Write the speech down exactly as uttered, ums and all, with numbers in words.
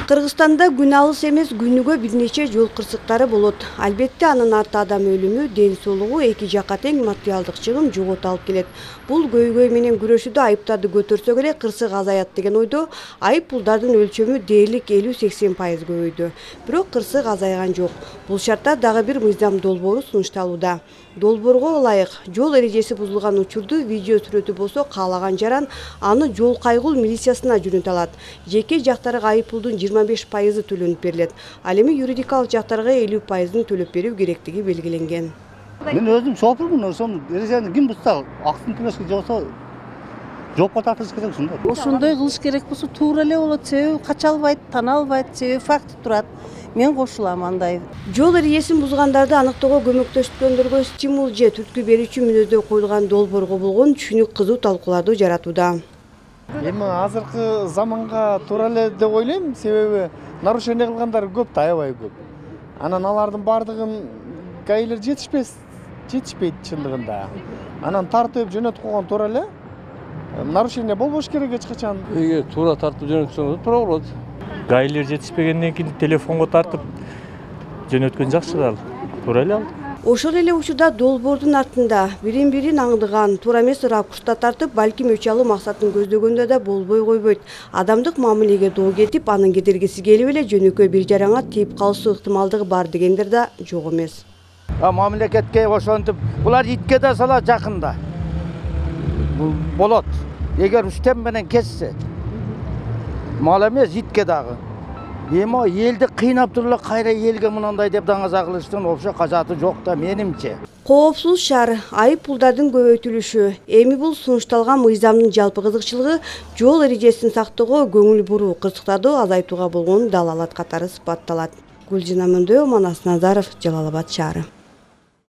Кыргызстанда күн алыс эмес, күнүгө бир нече жол кырсыктары болот. Албетте анын арты адам өлүмү, ден соолугу, эки жакка тең материалдык чыгым жогот алып келет. Бул көйгөй менен күрөшүүдө айыптарды көтөрсөк эле кырсык азаят деген ойдо айып пулдардын өлчөмү дээрлик элүү сексен пайыз көбөйдү. Бирок кырсык азайган жок. Бул шартта дагы бир мыйзам долбоору сунушталууда. Долбоорго ылайык жол эрежеси бузулган учурду видео сүрөтү болсо каалаган жаран аны жол кайгыл милициясына жөнөтө алат. Жеке жактарга айып пулдун жыйырма беш пайызы төлөнүп берилет. Ал эми юридикалык жактарга элүү пайызын төлөп берүү керектиги белгиленген. Мен өзүм шофурмун, ошон эрежени ким бузса, акысын төлөшкө жоксо жоопко тартыш керек ушундай. Ошондой кылыш керек болсо туура эле болот, себеби кача албайт, тана албайт, себеби факт турат. Мен кошулам андай. Жол эрежесин бузгандарды аныктоого көмөктөшкөндөргө стимул же түрткү берүүчү мүнөздөр коюлган долбоорго болгон түшүнүк кызуу талкууларды жаратууда. Эми азыркы заманга туура эле деп ойлойм, себеби нарушение кылгандар көп да, аябай көп. Анан алардын бардыгын гаилер жетишпес, жетишпейт чындыгында. Анан тартып жөнөтүп койгон туура эле. Нарушение болбош керек эч качан. Эгер туура тартып жөнөтсөң туура болот. Гаилер жетишпегенден кийин телефонго тартып жөнөткөн жакшы да, туура эле ал. Ошол эле учурда долбоордун артында бирин-бирин аңдыган, туура эмес ракурста тартып, балким өч алуу максатын көздөгөндө да болбой койбойт. Адамдык мамилеге доо кетип, анын кедергиси келип эле жөнөкөй бир жараңа тийип калышуу ыктымалдыгы бар дегендер да жок эмес. Мамлекетке ошентип, булар итке да сала жакында. Бул болот. Эгер үстем менен кессе, мал эмес итке дагы. Эми элди кыйнап туруп кайра элге мынандай деп даңаза кылыштын вообще кажаты жок да менимче. Коопсуз шаар, айып пулдардын көбөйтүлүшү. Эми бул сунушталган мыйзамдын жалпы кызыкчылыгы жол эрежесин сактоого көңүл буруу, кырсыктарды азайтууга болгон далалат катары сыпатталат. Гүлжина Мөндөө, Манас Назаров, Жалал Абад шаары.